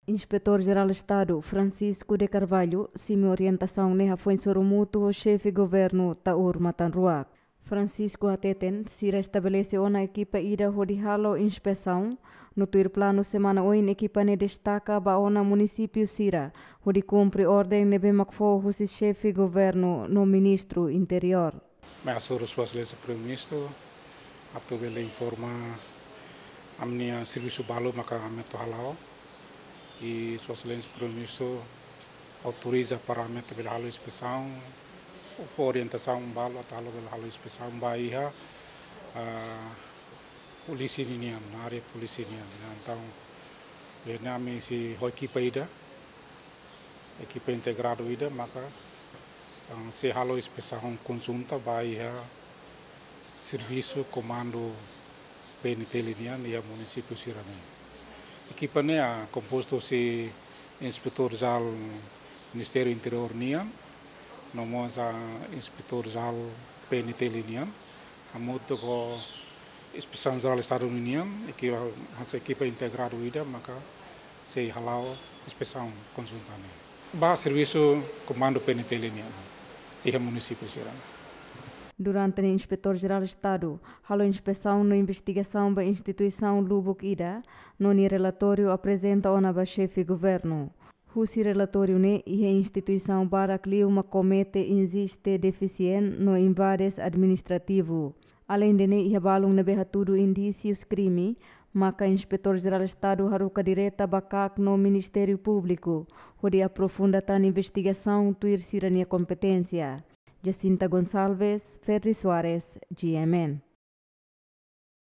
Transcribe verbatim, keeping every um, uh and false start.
Inspetór Jerál Estadu Francisco de Carvalho simu orientasaun ne'e hafoin sorumutu ho xefe governu Taur Matan Ruak. Francisco hateten sira estabelese ona ekipa ida hodi halo inspesaun, no tuir planu semana oin ekipa ne'e destaka ba ona munisípiu sira hodi kumpre orden ne'ebé mak fó husi xefe governu no ministru interiór. Mai hasoru Sua Exelénsia Primeiru-Ministru atu bele informa ami-nia servisu balu maka ami atu hala'o. I Sua Exelénsia Primeiru-Ministru autoriza para ami atu bele halo inspesaun, fó orientasaun balu atu halo bele halo inspesaun ba iha, ah, polísia ninian, área polísia nian. Entaun, iha ne'e ami sei ho ekipa ida, ekipa integradu ida, maka, ah, sei halo inspesaun konjunta ba iha servisu komandu P N T L nian iha munisípiu sira-ne'e. Ekipa ne'e, ah, kompostu husi Inspetór Jerál Ministériu Interiór nian, no mós, ah, Inspetór Jerál P N T L nian, hamutuk ho Inspesaun Jerál Estadu nian, ekipa, hanesan ekipa integradu ida, maka sei hala'o inspesaun konjunta ne'e ba servisu komandu P N T L nian iha munisípiu sira-ne'e. Durante ne'e Inspetór Jerál Estadu halo inspesaun no investigasaun ba instituisaun lubuk ida, no nia relatóriu aprezenta ona ba xefe governu. Husi relatóriu ne'e, iha instituisaun barak liu mak komete injustus defisién no invades administrativu. Aleinde ne'e, iha balun ne'ebé hatudu indísius krime, maka Inspetór Jerál Estadu haruka direta ba KAK no Ministériu Públiku hodi aprofunda tan investigasaun tuir sira-nia kompeténsia. Jacinta Gonçalves, Ferri Soares, G M N.